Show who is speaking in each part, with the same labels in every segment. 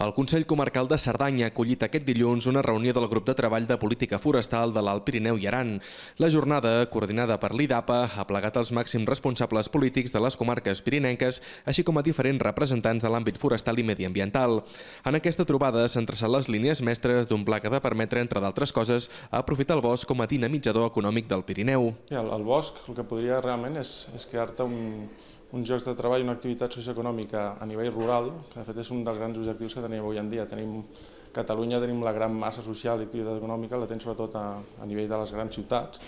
Speaker 1: El Consell Comarcal de Cerdanya ha acollit aquest dilluns una reunió del grup de treball de política forestal de l'Alt Pirineu i Aran. La jornada, coordinada per l'IDAPA, ha plegat els màxims responsables polítics de les comarques pirinenques, així com a diferents representants de l'àmbit forestal i mediambiental. En aquesta trobada s'han traçat les línies mestres d'un pla que ha de permetre, entre d'altres coses, aprofitar el bosc com a dinamitzador econòmic del Pirineu.
Speaker 2: El bosc el que podria realment és crear-te uns llocs de treball, una activitat socioeconòmica a nivell rural, que de fet és un dels grans objectius que tenim avui en dia. Catalunya tenim la gran massa social i activitat econòmica, la tenim sobretot a nivell de les grans ciutats,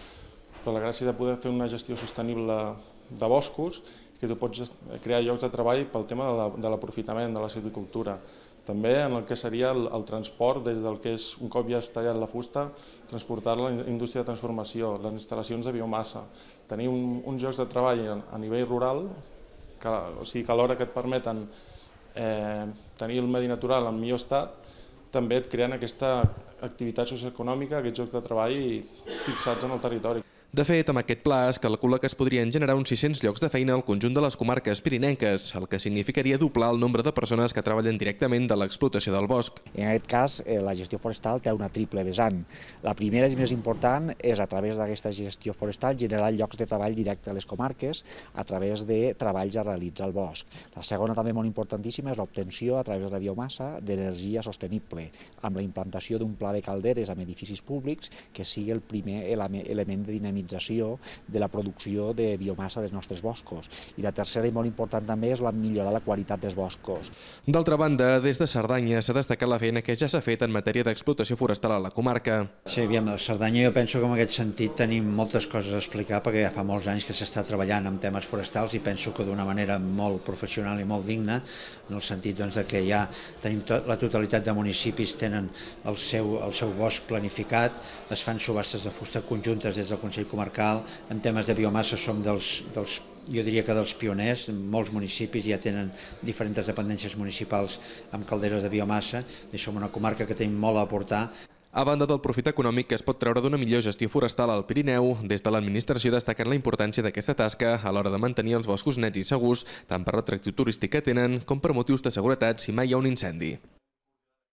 Speaker 2: però la gràcia de poder fer una gestió sostenible de boscos, que tu pots crear llocs de treball pel tema de l'aprofitament, de la silvicultura. També en el que seria el transport, des del que és, un cop ja has tallat la fusta, transportar-la a la indústria de transformació, les instal·lacions de biomassa. Tenir uns llocs de treball a nivell rural, que alhora que et permeten tenir el medi natural en millor estat, també et creen aquesta activitat socioeconòmica, aquests llocs de treball fixats en el territori.
Speaker 1: De fet, amb aquest pla es calcula que es podrien generar uns 600 llocs de feina al conjunt de les comarques pirinenques, el que significaria doblar el nombre de persones que treballen directament de l'explotació del bosc.
Speaker 3: En aquest cas, la gestió forestal té una triple vessant. La primera i més important és, a través d'aquesta gestió forestal, generar llocs de treball directe a les comarques a través de treballs a realitzar al bosc. La segona, també molt importantíssima, és l'obtenció, a través de la biomassa, d'energia sostenible, amb la implantació d'un pla de calderes amb edificis públics que sigui el primer element de dinamització de la producció de biomassa dels nostres boscos. I la tercera i molt important també és millorar la qualitat dels boscos.
Speaker 1: D'altra banda, des de Cerdanya s'ha destacat la feina que ja s'ha fet en matèria d'explotació forestal a la comarca.
Speaker 4: Sí, aviam, a Cerdanya jo penso que en aquest sentit tenim moltes coses a explicar perquè ja fa molts anys que s'està treballant en temes forestals i penso que d'una manera molt professional i molt digna, en el sentit que ja tenim la totalitat de municipis tenen el seu bosc planificat, es fan subhastes de fusta conjuntes des del Consell Comarcal, en temes de biomassa som jo diria que dels pioners, molts municipis ja tenen diferents dependències municipals amb calderes de biomassa i som una comarca que tenim molt a aportar.
Speaker 1: A banda del profit econòmic que es pot treure d'una millor gestió forestal al Pirineu, des de l'administració destaquen la importància d'aquesta tasca a l'hora de mantenir els boscos nets i segurs, tant per l'atractiu turístic que tenen com per motius de seguretat si mai hi ha un incendi.